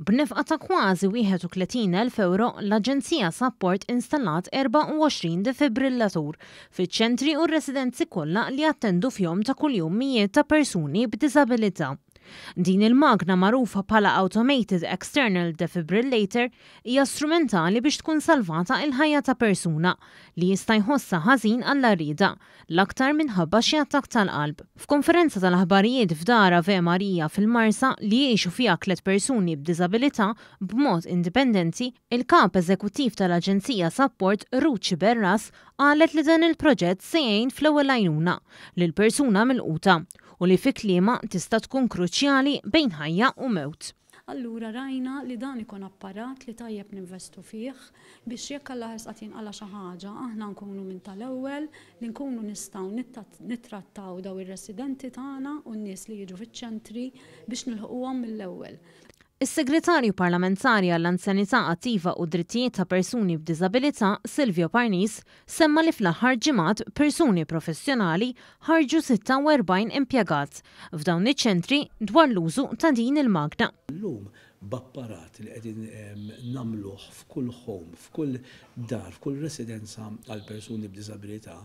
B'nefqa ta' kważi 31,000 ewro, l-Aġenzija Sapport installat 24 defibrillatur fiċ-ċentri u r-residenzi kollha li jattendu fihom ta' kuljum mijiet ta' persuni b'diżabilità. Din il-magna magħrufa bħala Automated External Defibrillator hija strumentali biex tkun salvata il-ħajja ta' persuna li jista' jħossha ħażin għall-għarrieda, l-aktar minħabba xi attakk tal-qalb. F'konferenza tal-aħbarijiet f'Dar Ave Maria fil-Marsa li jgħixu fiha tliet persuni b'diżabilità b'mod indipendenti, il-Kap Eżekuttiv tal-Aġenzija Sapport Ruth Sciberras qalet li dan il-proġett se jgħin fl-ewwel għajnuna lill-persuna milquta u li fi kliemha tista' tkun kruċjali bejn ħajja u mewt. Allura rajna li dan ikun apparat li tajjeb ninvestu fih biex jekk Alla ħares qatt jinqala' xi ħaġa aħna nkunu minn tal-ewwel li nkunu nistgħu nittrattaw dawn ir-residenti tagħna u n-nies li jiġu fiċ-ċentri biex nilħquhom mill-ewwel. Is-Segretarju Parlamentari għall-Anzjanità Attiva u d-Drittijiet ta' Persuni b'Diżabilità, Silvio Parnis, semma li fl-aħħar ġimgħat persuni professjonali ħarrġu 46 impjegat f'dawn iċ-ċentri dwar l-użu ta' din il-magna. Illum b'apparat li qegħdin nagħmluh f'kull home, f'kull dar, f'kull residenza għal persuni b'diżabilità,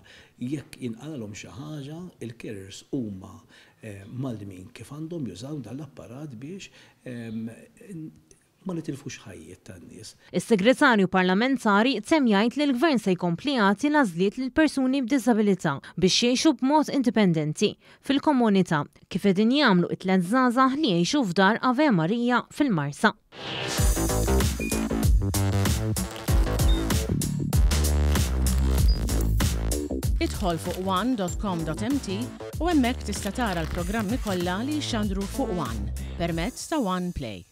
jekk jinqalgħalhom xi ħaġa, il-carers huma mgħallmin kif għandhom jużaw dan l-apparat biex ma nitilfux ħajjiet tan-nies. Is-Segretarju Parlamentari temm jgħid li l-Gvern se jkompli jagħti l-għażliet lill-persuni b'diżabilità biex jgħixu b'mod indipendenti fil-komunità, kif qegħdin jagħmlu t-tlett żgħażagħ li jgħixu f'Dar Ave Maria fil-Marsa. Idħol fuq one.com.mt u hemmhekk tista' tara l-programmi kollha li jixxandru fuq One permezz ta' One Play.